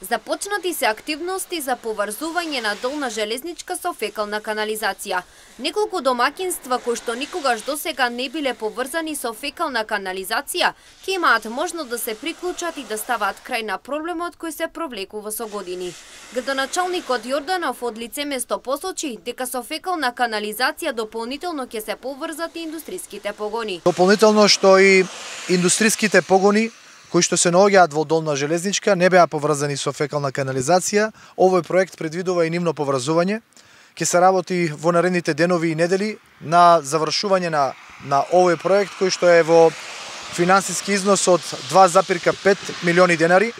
Започнати се активности за поврзување на долна железничка со фекална канализација. Неколку домаќинства кои што никогаш досега не биле поврзани со фекална канализација, ќе имаат можност да се приклучат и да ставаат крај на проблемот кој се провлекува со години. Градоначалникот Јорданов од лице место посочи дека со фекална канализација дополнително ќе се поврзат и индустриските погони. Дополнително што и индустриските погони кои што се наоѓаат во долна железничка не беа поврзани со фекална канализација. Овој проект предвидува и нивно поврзување. Ќе се работи во наредните денови и недели на завршување на овој проект кој што е во финансиски износ од 2,5 милиони денари.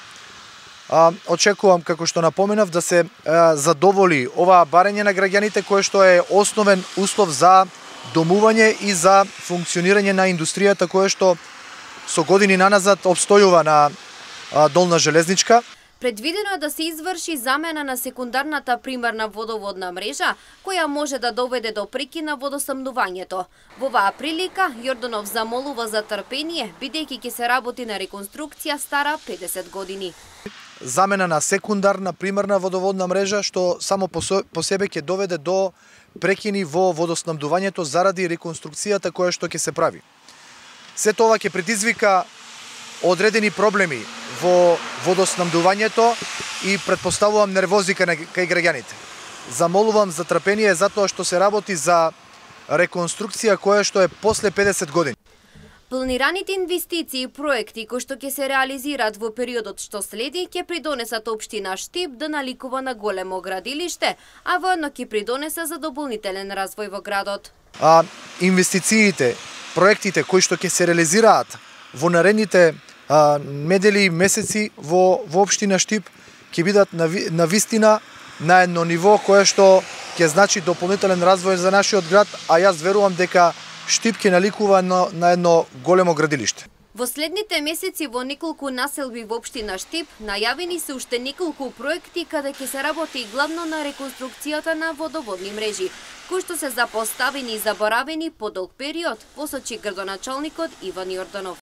Очекувам, како што напоменав, да се задоволи оваа барање на граѓаните кое што е основен услов за домување и за функционирање на индустријата која што со години наназад обстојува на долна железничка. Предвидено е да се изврши замена на секундарната примарна водоводна мрежа, која може да доведе до прекин на водоснабдувањето. Во оваа прилика, Јорданов замолува за трпение, бидејќи ќе се работи на реконструкција стара 50 години. Замена на секундарна примарна водоводна мрежа, што само по себе ќе доведе до прекини во водоснабдувањето заради реконструкцијата која што ќе се прави. Се тоа ќе предизвика одредени проблеми во водоснабдувањето и претпоставувам нервозика кај граѓаните. Замолувам за трпение затоа што се работи за реконструкција која што е после 50 години. Планираните инвестиции и проекти кои што ќе се реализираат во периодот што следи ќе придонесат општина Штип да наликува на големо градилиште, а воедно ќе придонесе за дополнителен развој во градот. Инвестициите, проектите кои што ќе се реализираат во наредните недели и месеци во општина Штип ќе бидат на вистина на едно ниво кое што ќе значи дополнителен развој за нашиот град, а јас верувам дека Штип ќе наликува на едно големо градилиште. Во следните месеци во неколку населби во општина Штип најавени се уште неколку проекти каде ќе се работи главно на реконструкцијата на водоводни мрежи, кои што се запоставени и заборавени по долг период, посочи градоначалникот Иван Јорданов.